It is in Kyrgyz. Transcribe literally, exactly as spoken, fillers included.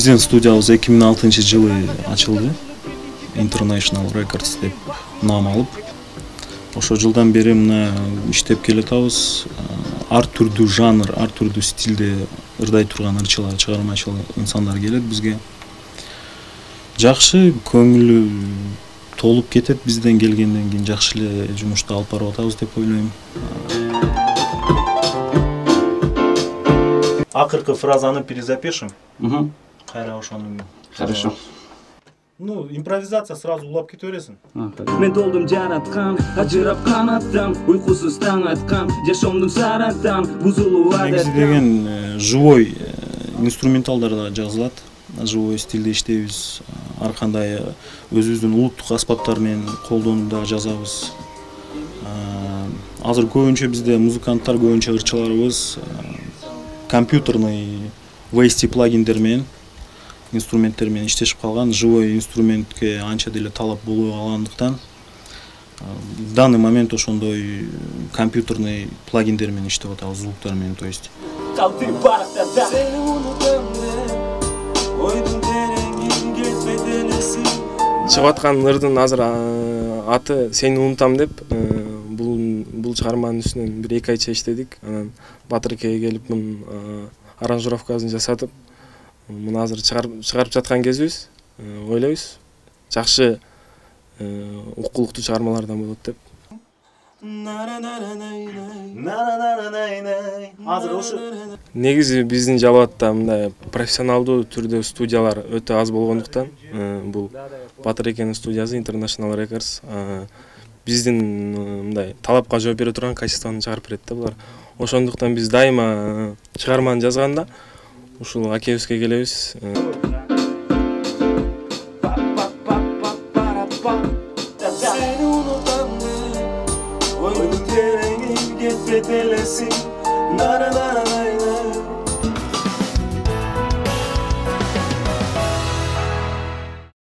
Биздин студиябыз эки миң алтынчы жылы ачылды. International Records деп нам алып. Ошол жылдан бери мына иштеп келатабыз. Ар түрдүү жанр, ар түрдүү стилде ырдай турган ырчылар, чыгармачыл инсандар келет бизге. Жакшы, көңүлү толуп кетет бизден келгенден кийин жакшы эле жумушту алып барып атабыз деп ойлойм. Акыркы фразаны перезапишем. Угу. Кайра ошону. Хорошо. Ну, импровизация сразу улап кете бересиң. Мен толдум жараткан, ажырап канаттан, уйкусуз таң аткан, жашоомдун сараттан, бузулуп адат. Негизи деген живой инструменталдарда жазылат. Живой стилде иштейбиз. Ар кандай өзүбүздүн улуттук аспаптар менен колдонууда жазабыз. Азыр көбүнчө бизде музыканттар, көбүнчө ырчыларыбыз компьютерный ви эс ти плагиндер менен, инструменттер менен иштешип калган. Живой инструментке анча деле талап болбой калгандыктан в данный момент ошондой компьютерный плагиндер менен иштеп атабыз, звуктар менен, то есть. Чыгып аткан ырдын азыр аты Сени унутам деп, бул бул чыгарманын үстүнөн бир эки айча иштедик. Анан Батыр экеге келип мунун аранжировкасын жасатып, муну азыр чыгарып жаткан кезибиз. Ойлойбуз, жакшы укулуктуу чыгармалардан болот деп. Азыр ошо Негизи биздин Жалал-Абадта мындай профессионалдуу түрдө студиялар өтө аз болгондуктан, бул Батыр экенин студиясы International Records биздин мындай талапка жооп бере турган качествону чыгарып берет да булар. Ошондуктан биз дайыма чыгарманы жазганда ушул акебизге келебиз. Oyun terengin gitmedelesin, nara nara